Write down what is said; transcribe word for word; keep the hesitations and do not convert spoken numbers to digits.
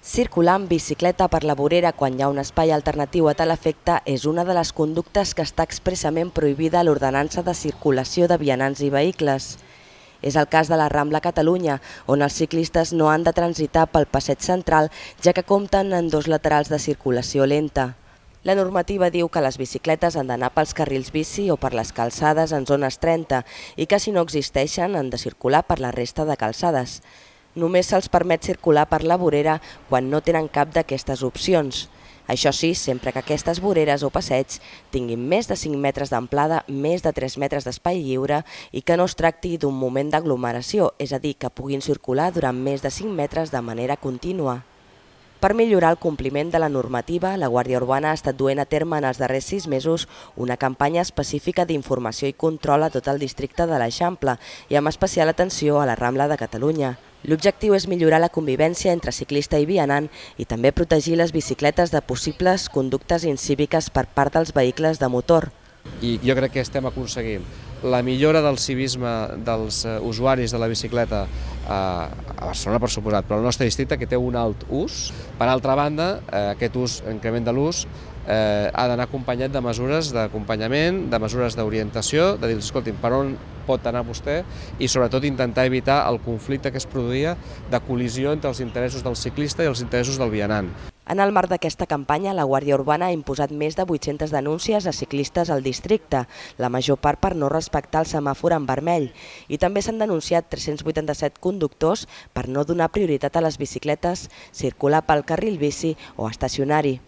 Circular amb bicicleta per la vorera quan hi ha un espai alternatiu a tal efecte és una de les conductes que està expressament prohibida a l'Ordenança de Circulació de Vianants i Vehicles. És el cas de la Rambla Catalunya, on els ciclistes no han de transitar pel passeig central, ja que compten amb dos laterals de circulació lenta. La normativa diu que les bicicletes han d'anar pels carrils bici o per les calçades en zones trenta i que si no existeixen han de circular per la resta de calçades. Només se'ls permet circular per la vorera quan no tenen cap d'aquestes opcions. Això sí, sempre que aquestes voreres o passeigs tinguin més de cinc metres d'amplada, més de tres metres d'espai lliure i que no es tracti d'un moment d'aglomeració, és a dir, que puguin circular durant més de cinc metres de manera contínua. Per millorar el compliment de la normativa, la Guàrdia Urbana ha estat duent a terme en els darrers sis mesos una campanya específica d'informació i control a tot el districte de l'Eixample i amb especial atenció a la Rambla de Catalunya. L'objectiu és millorar la convivència entre ciclista i vianant i també protegir les bicicletes de possibles conductes incíviques per part dels vehicles de motor. I jo crec que estem aconseguint la millora del civisme dels usuaris de la bicicleta a Barcelona, per suposat, però al nostre districte, que té un alt ús. Per altra banda, aquest ús, increment de l'ús, ha d'anar acompanyat de mesures d'acompanyament, de mesures d'orientació, de dir, escolti'm, per on pot anar vostè i sobretot intentar evitar el conflicte que es produïa de col·lisió entre els interessos del ciclista i els interessos del vianant. En el marc d'aquesta campanya, la Guàrdia Urbana ha imposat més de vuit-centes denúncies a ciclistes al districte, la major part per no respectar el semàfor en vermell, i també s'han denunciat tres-cents vuitanta-set conductors per no donar prioritat a les bicicletes, circular pel carril bici o estacionari.